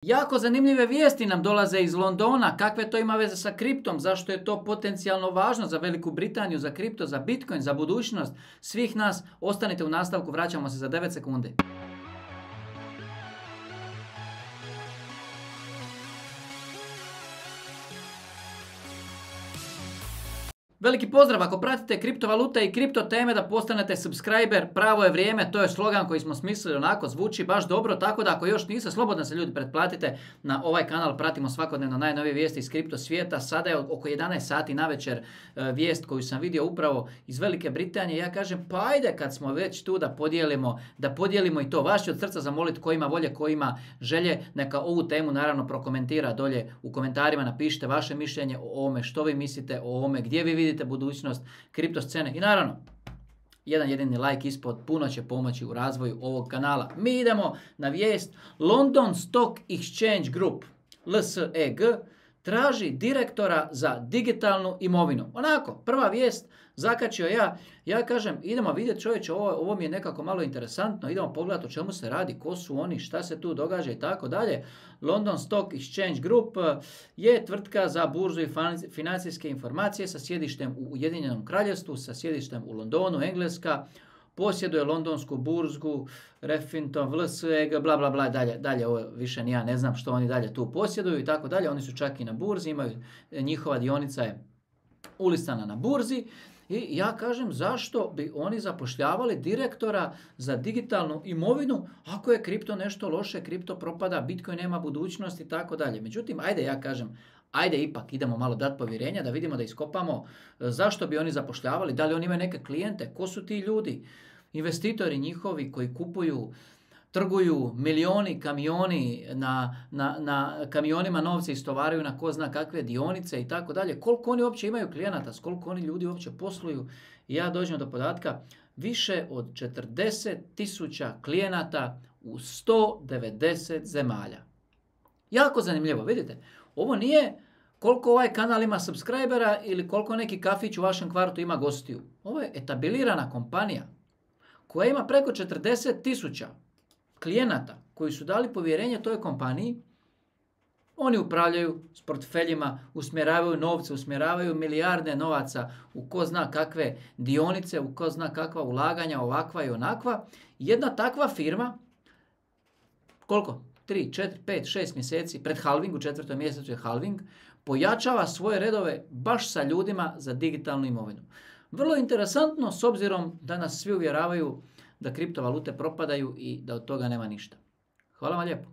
Jako zanimljive vijesti nam dolaze iz Londona. Kakve to ima veze sa kriptom? Zašto je to potencijalno važno za Veliku Britaniju, za kripto, za Bitcoin, za budućnost svih nas? Ostanite u nastavku, vraćamo se za 9 sekundi. Veliki pozdrav, ako pratite kriptovalute i kripto teme da postanete subscriber, pravo je vrijeme, to je slogan koji smo smislili, onako zvuči baš dobro, tako da ako još niste, slobodno se ljudi pretplatite na ovaj kanal, pratimo svakodnevno najnovije vijesti iz kripto svijeta. Sada je oko 11 sati navečer vijest koju sam vidio upravo iz Velike Britanije. Ja kažem, pa ajde kad smo već tu da podijelimo i to. Vas ću od srca zamoliti ko ima volje, ko ima želje, neka ovu temu naravno prokomentira dolje u komentarima, napišite vaše mišljenje o ovome, što vi mislite o ovome, gdje vi vidite budućnost kripto scene i naravno jedan jedini like ispod puno će pomoći u razvoju ovog kanala. Mi idemo na vijest. London Stock Exchange Group LSEG traži direktora za digitalnu imovinu. Onako, prva vijest, zakačio ja kažem idemo vidjeti čovječe, ovo mi je nekako malo interesantno, idemo pogledati o čemu se radi, ko su oni, šta se tu događa i tako dalje. London Stock Exchange Group je tvrtka za burzu i financijske informacije sa sjedištem u Ujedinjenom Kraljevstvu, sa sjedištem u Londonu, Engleska. Posjeduje londonsku burzgu, Refinitiv, LSEG, bla bla bla, dalje ovo više ni ja ne znam što oni dalje tu posjeduju i tako dalje. Oni su čak i na burzi, njihova dionica je ulistana na burzi. I ja kažem, zašto bi oni zapošljavali direktora za digitalnu imovinu ako je kripto nešto loše, kripto propada, Bitcoin nema budućnosti i tako dalje. Međutim, ajde ipak idemo malo dati povjerenja da vidimo, da iskopamo zašto bi oni zapošljavali, da li oni imaju neke klijente, ko su ti ljudi, investitori njihovi koji kupuju, trguju milioni kamioni, na kamionima novce istovaraju na ko zna kakve dionice i tako dalje. Koliko oni uopće imaju klijenata, s koliko oni ljudi uopće posluju. I ja dođem do podatka više od 40.000 klijenata u 190 zemalja. Jako zanimljivo, vidite. Ovo nije koliko ovaj kanal ima subscribera ili koliko neki kafić u vašem kvartu ima gostiju. Ovo je etablirana kompanija koja ima preko 40.000 klijenata koji su dali povjerenje toj kompaniji. Oni upravljaju s portfeljima, usmjeravaju novce, usmjeravaju milijarde novaca u ko zna kakve dionice, u ko zna kakva ulaganja, ovakva i onakva. Jedna takva firma, koliko? 3, 4, 5, 6 mjeseci pred halving, u 4. mjesecu je halving, pojačava svoje redove baš sa ljudima za digitalnu imovinu. Vrlo interesantno s obzirom da nas svi uvjeravaju da kriptovalute propadaju i da od toga nema ništa. Hvala vam lijepo.